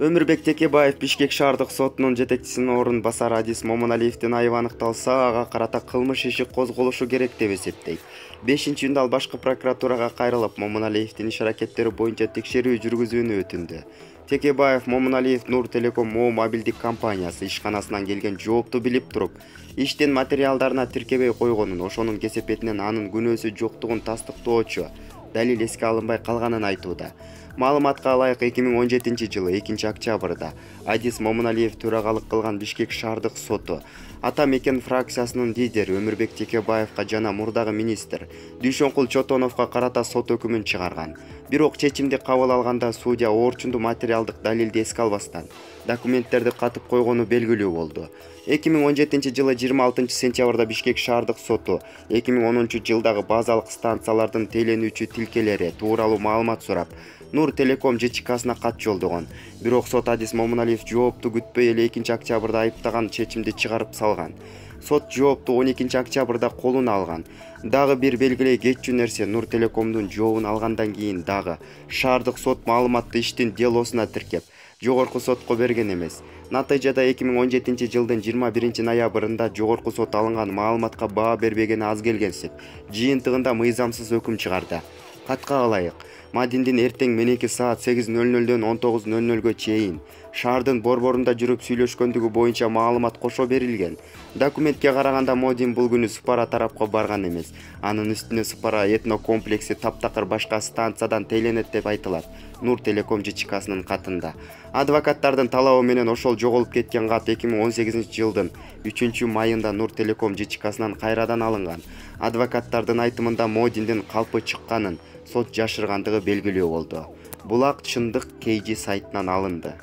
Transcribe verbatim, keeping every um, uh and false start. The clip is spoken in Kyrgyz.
Өмүрбек Текебаев Бишкек шаардык сотунун жетекчисинин орун басары Адис Момуналиевдин айыбы аныкталса, ага карата кылмыш иши козголушу керек деп эсептейт. бешинчи июнда ал башкы прокуратурага кайрылып, Момуналиевдин иш-аракеттери боюнча текшерүү жүргүзүүнү өтүндү. Текебаев Момуналиев Нур Телеком Мо мобилдик компаниясы ишканасынан келген жоопту билип туруп, иштин материалдарына тиркебей койгонун, ошонун кесепетинен анын күнөөсү жоктугун тастыктоочу далил эске алынбай калганын айтууда. Маалыматка ылайык эки миң он жетинчи жылы экинчи октябрда Адис Момуналиев төрагалык кылган Бишкек шаардык соту Ата Мекен фракциясынын лидери Өмүрбек Текебаевка жана мурдагы министр Дүйшөнкул Чотоновго карата сот өкүмүн чыгарган. Бирок чечимди кабыл алганда судья орчундуу материалдык далилди эске албастан документтерди катып койгону белгилүү болду. эки миң он жетинчи жылы жыйырма алтынчы сентябрда Бишкек шаардык соту эки миң онунчу жылдагы базалык станциялардын теленүүчү тилкелери тууралуу маалымат сурап, Нур Телеком ЖЧКсына кат жолдогон. Бирок сот Адис Момуналиев жоопту күтпөй эле экинчи октябрда айыптаган чечимди чыгарып салган. Сот жоопту он экинчи октябрда колуна алган. Дагы бир белгилей кетчү нерсе, Нур Телекомдун жообун алгандан кийин дагы шаардык сот маалыматты иштин делосуна тиркеп, жогорку сотко берген эмес. Натыйжада эки миң он жетинчи жылдын жыйырма биринчи ноябрында жогорку сот алынган маалыматка баа бербегени аз келгенсип, жыйынтыгында мыйзамсыз өкүм чыгарды. Катка ылайык, Мадиндин эртең мененки саат сегиз ноль нолдон он тогуз ноль нолго чейин шаардын борборунда жүрүп сүйлөшкөндүгү боюнча маалымат кошо берилген. Документке караганда Модин бул күнү Спара тарапка барган эмес. Анын үстүнө Спара этно комплекси таптакыр башка станциядан теленет деп айтылат Нур Телеком ЖЧКсынын катында. Адвокаттардын талабы менен ошол жоголуп кеткен кат эки миң он сегизинчи жылдын үчүнчү майында Нур Телеком ЖЧКсынан кайрадан алынган. Адвокаттардын айтымында Модиндин калпы чыкканын, сот жашыргандыгы белгилүү болду. Булак чындык кей жи сайтынан алынды.